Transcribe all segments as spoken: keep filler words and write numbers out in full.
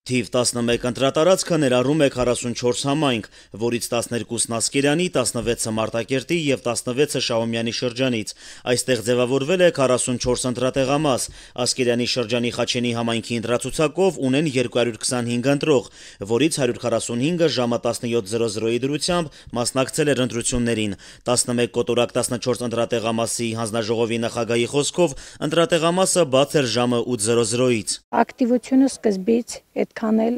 Թիվ տասնմեկ ընտրատարածքը ներառում է քառասունչորս համայնք, որից տասներկուսն Ասկերանի, տասնվեցը Մարտակերտի եւ տասնվեցը Շահումյանի շրջանից։ Այստեղ ձևավորվել է քառասունչորս ընտրատեղամաս։ Ասկերանի շրջանի Խաչենի համայնքի ընտրացուցակով ունեն երկու հարյուր քսանհինգ ընտրող, որից հարյուր քառասունհինգը ժամը տասնյոթ զրո զրոյի դրությամբ մասնակցել էր ընտրություններին։ տասնմեկ կոտորակ տասնչորս ընտրատեղամասի հանձնաժողովի նախագահի խոսքով ընտրատեղամասը բաց էր ժամը ութ զրո զրոյից։ Ակտիվությունը սկզբից այդքան էլ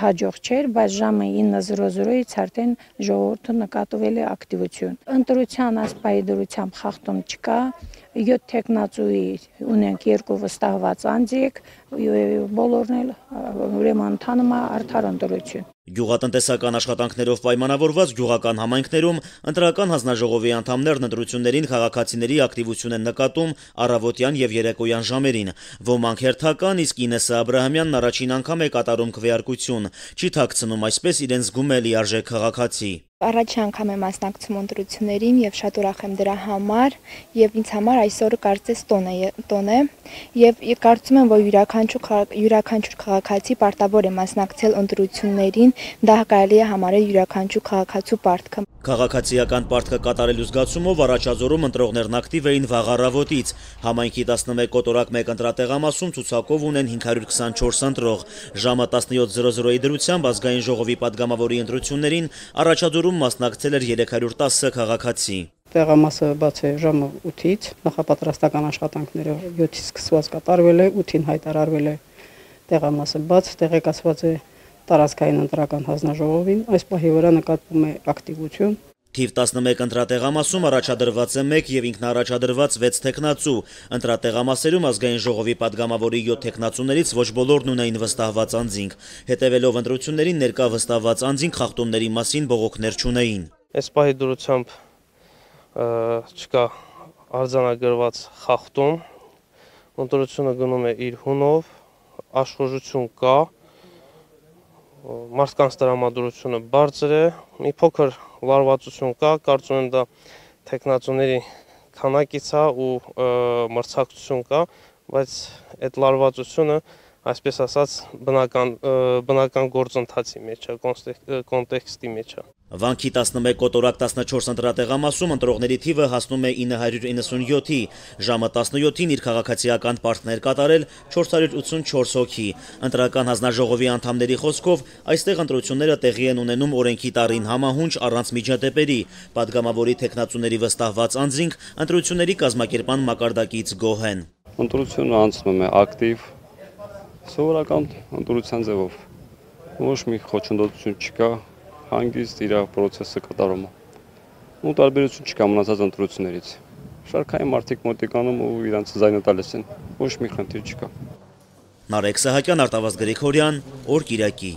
հաջող չէր, բայց ժամը ինը զրո զրոյից արդեն ժողովուրդը նկատվել է ակտիվություն։ Ընտրության ասպայի դրությամբ խախտում չկա, յոթ թեկնածուի ունենք երկու վստահված անձիկ, բոլորն էլ ուրեմն ընթանում է արդար ընտրություն։ Գյուղատնտեսական աշխատանքներով պայմանավորված գյուղական համայնքներում ընտրական հանձնաժողովի անդամներն ընտրություններին քաղաքացիների ակտիվություն են նկատում առավոտյան եւ երեկոյան ժամերին։ Ոմանք հերթական, իսկ Ինեսսա Աբրահամյանն առաջին անգամ է կատարում քվեարկություն, չի թաքցնում այսպես իրեն զգում է լիարժեք քաղաքացի։ Առաջին անգամ եմ մասնակցում ընտրություններին եւ շատ ուրախ եմ դրա համար եւ ինձ համար այսօրը կարծես տոն է տոն է եւ կարծում եմ, որ յուրաքանչյուր յուրաքանչյուր քաղաքացի պարտավոր է մասնակցել ընտրություններին, դա կարելի է համարել յուրաքանչյուր քաղաքացու պարտքը։ Քաղաքացիական պարտքը կատարելու զգացումով առաջազորում ընտրողներն ակտիվ էին վաղ առավոտից։ Համայնքի տասնմեկ կոտորակ մեկ ընտրատեղամասում ցուցակով ունեն հինգ հարյուր քսանչորս ընտրող։ Ժամը տասնյոթ զրո զրոյի դրությամբ ազգային ժողովի падգամավորի ընտրություններին առաջադրում մասնակցել էր երեք հարյուր տասը քաղաքացի։ Տեղամասը բաց է ժամը ութից, նախապատրաստական աշխատանքները յոթից սկսված կատարվել է, ութին հայտարարվել է տեղամասը բաց, տեղեկացված է տարածքային ընտրական հանձնաժողովին, այս պահի վրա նկատվում է ակտիվություն։ Թիվ տասնմեկ ընտրատեղամասում առաջադրված է մեկ եւ ինքնաառաջադրված վեց թեկնածու։ Ընտրատեղամասերում ազգային ժողովի падգամավորի յոթ թեկնածուներից ոչ բոլորն ունեին վստահված անձինք։ Հետևելով ընտրություններին ներկա վստահված անձինք խախտումների մասին բողոքներ չունեին։ Այս պահի դրությամբ չկա արձանագրված խախտում, ընտրությունը գնում է իր հունով, աշխուժություն կա, մարդկանց տրամադրությունը բարձր է, մի փոքր լարվածություն կա, կարծում եմ դա թեկնածուների քանակից է ու մրցակցություն կա, բայց այդ լարվածությունը, այսպես ասած, բնական բնական գործընթացի մեջ է, կոնտեքստի մեջ է։ Վանքի տասնմեկ կոտորակ տասնչորս ընտրատեղամասում ընտրողների թիվը հասնում է ինը հարյուր իննսունյոթի, ժամը տասնյոթին իր քաղաքացիական պարտքներ կատարել չորս հարյուր ութսունչորս հոգի։ Ընտրական հանձնաժողովի անդամների խոսքով այստեղ ընտրությունները տեղի են ունենում օրենքի տարին համահունչ առանց միջադեպերի։ Падգամավորի թեկնածուների վստահված անձինք ընտրությունների կազմակերպման մակարդակից գոհ են։ Ընտրությունը անցնում է ակտիվ, սովորական ընտրության ձևով, ոչ մի խոչընդոտություն չկա, հանգիստ իր պրոցեսը կատարում է։ Ու տարբերություն չկա մնացած ընտրություններից։ Շարքային մարդիկ մոտիկանում ու իրանց ձայնը տալիս են, ոչ մի խնդիր չկա։ Նարեկ Սահակյան, Արտավազդ Գրիգորյան, Օր Կիրակի։